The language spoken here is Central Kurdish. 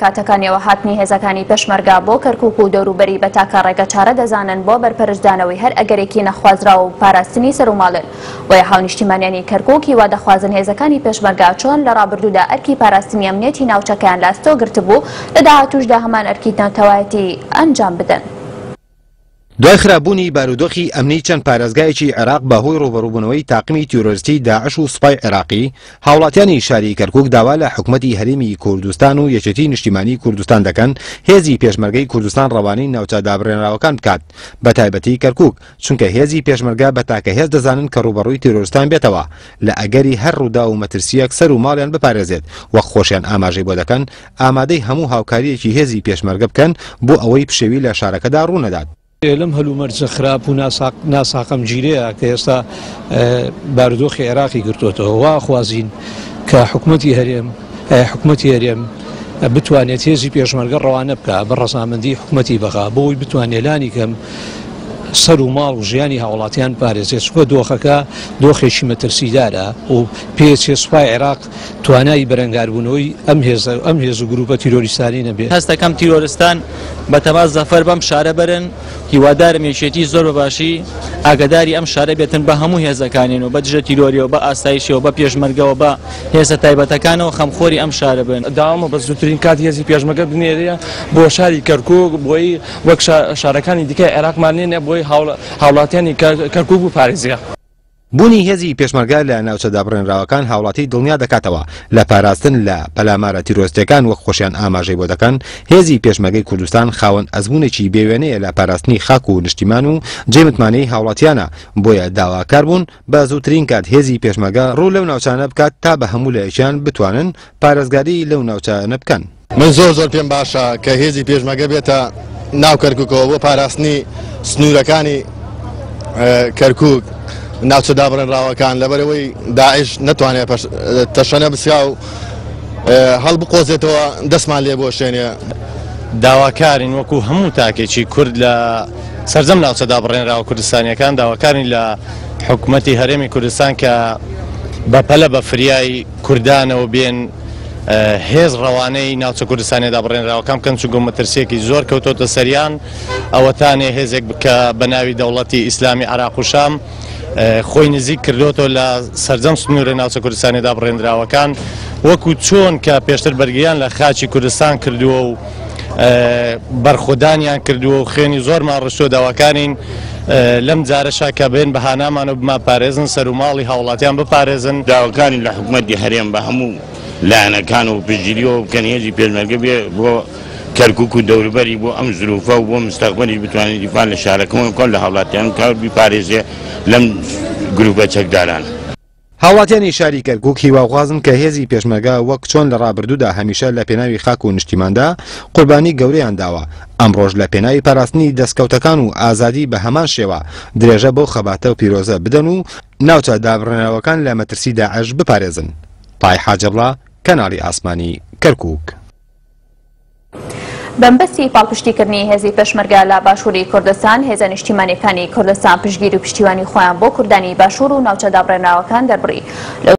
کاتەکانیەوە هاتنی هێزەکانی پێشمەرگە بۆ کەرکوک و دەوروبەری بە تاکە ڕێگەچارە دەزانن بۆ بەرپەرچدانەوەی هەر ئەگەرێکی نەخوازراو و پاراستنی سەروماڵێن. بۆیە هاونیشتیمانیانی کەرکوک هیوا دەخوازن هێزەکانی پێشمەرگە چۆن لە ڕابردوودا ئەرکی پاراستنی ئەمنیەتی ناوچەکەیان لە ئەستۆ گرتبوو، لە داهاتووشدا هەمان ئەرکی نەتەوایەتی ئەنجام بدەن. دوای خراپبوونی بارودۆخی ئەمنی چەند پارێزگایەکی عێراق بە هۆی ڕووبەڕووبوونەوەی تاقمی تیرۆرستی داعش و سوپای عێراقی، هاوڵاتیانی شاری کەرکوک داوا لە حکومەتی هەرێمی کوردستان و یەکێتی نیشتیمانی کوردستان دەکەن هێزی پێشمەرگەی کوردستان ڕەوانەی ناوچە دابڕێنراوەکان بکات بەتایبەتی کەرکوک چونکە هێزی پێشمەرگە بە تاکە هێز دەزانن کە ڕووبەڕووی تیرۆرستان بێتەوە لە ئەگەری هەر ڕووداو و مەترسییەک سەر و ماڵیان بپارێزێت وەک خۆشیان ئاماژەی بۆ دەکەن ئامادەی هەموو هاوکارییەکی هێزی پێشمەرگە بکەن بۆ ئەوەی پشێوی لە شارەکەدا ڕوونەدات. لەم هەلومەرجە خراپ و ناساقەمگیرەیە کە ئێستا بارودۆخی عێراقی گرتۆتەوە، وا ئەخوازین کە حکومەتی هەرێم حکومەتی هەرێم بتوانێت هێزی پێشمەرگە ڕەوانە بکا بە ڕەزامەندی حکومەتی بەغا بۆ ئەوەی بتوانێت لانی کەم سەر و ماڵ و ژیانی هاوڵاتیان بپارێزێت، چونکە دۆخەکە دۆخێکی مەترسیدارە و پێچێ سوپای عێراق توانای بەرەنگاربوونەوەی ئەم هێزە ئەم هێز و گروپە تیرۆریستانەی نەبێت. هەست دەکەم تیرۆرستان بەتەما زەفەر بەم شارە بەرن، هیوادارم یەکێتی زۆر بە باشی ئاگەداری ئەم شارە بێتن بە هەموو هێزەکانیەوە بە دژە تیرۆریەوە بە ئاسایشەوە بە پێشمەرگەوە بە هێزە تایبەتەکانەوە خەمخۆری ئەم شارە بن. داوامە بە زووترین کات هێزی پێشمەرگە بنێرێ بۆ شاری کەرکوک بۆی وەک شارەکانی دیکەی عێراقمان نێنێ بۆی هاوڵاتیانی کەرکوک بپارێزێ. بوونی هێزی پێشمەرگە لە ناوچە دابڕێنراوەکان هاوڵاتی دڵنیا دەکاتەوە لە پاراستن لە پەلامارە تیرۆرستیەکان وەک خۆشیان ئاماژەی بۆ دەکەن هێزی پێشمەرگەی کوردستان خاوەن ئەزموونێکی بێوێنەیە لە پاراستنی خاک و نیشتیمان و جێی متمانەی هاوڵاتیانە بۆیە داواکار بوون بە زووترین کات هێزی پێشمەرگە ڕوو لەو ناوچانە بکات تا بە هەموو لایەکیان بتوانن پارێزگاری لەو ناوچانە بکەن. من زۆر زۆر پێم باشە کە هێزی پێشمەرگە بێتە ناو کەرکوکەوە بۆ پاراستنی سنوورەکانی کەرکوک ناوچە دابڕێنراوەکان لەبەرەوەی داعش نەتوانێت تەشەنە بسیا و هەڵبقۆزێتەوە دەستمان لێ بۆشێنێ. داواکارین وەکو هەموو تاکێکی کورد لە سەرجەم ناوچە دابڕێنراوە کوردستانیەکان داواکارین لە حکومەتی هەرێمی کوردستان کە بەپەلە بە فریای کوردانەوە بێن هێز ڕەوانەی ناوچە کوردستانیە دابڕێنراوەکان بکەن چونکە مەترسیەکی زۆر کەوتۆتە سەریان ئەوەتانێ هێزێک بکە بە ناوی دەوڵەتی ئیسلامی عراق و شام خۆی نزیک کردوەوە لە سەرجەم سنوورە ناوچە کوردستانی دابڕێنراوەکان وەکو چۆن کە پێشتر بەرگریان لە خاچی کوردستان کردووە و بەرخۆدانیان کردووە و خوێنی زۆرمان ڕشتووە داواکارین لەم جارەشا کە بێن بە هانامان و بمانپارێزن سەر و ماڵی هاوڵاتیان بپارێزن. داواکارین لە حکومەتی هەرێم بە هەموو لایەنەکان و پشتگیریەوە بکەن هێزی پێشمەرگە بێ بۆ کەرکوک و دەوروبەری بۆ ئەم زروفە و بۆ مستەقبەلیش بتوانێت دیفاع لە شارەکەمان بکات لە هاوڵاتیان بکات بیپارێزێ لەم گروپە چەکدارانە. هاوڵاتیانی شاری کەرکوک هیواخوازن کە هێزی پێشمەرگە وەک چۆن لە ڕابردوودا هەمیشە لە پێناوی خاک و نیشتیماندا قوربانی گەورەیان داوە، ئەمڕۆش لە پێناوی پاراستنی دەستکەوتەکان و ئازادی بە هەمان شێوە درێژە بەو خەباتە پیرۆزە بدەن و ناوچە دابڕێنراوەکان لە مەترسی داعش بپارێزن. تای حاجەبڵا، کەناڵی ئاسمانی کەرکوک. بەمبەستی پاڵپشتیکردنی هێزی پێشمەرگە لە باشووری کوردستان، هێزە نیشتیمانیەکانی کوردستان پشتگیری و پشتیوانی خۆیان بۆ کوردانی باشوور و ناوچە دابڕێنراوەکان دەربڕی. لەو.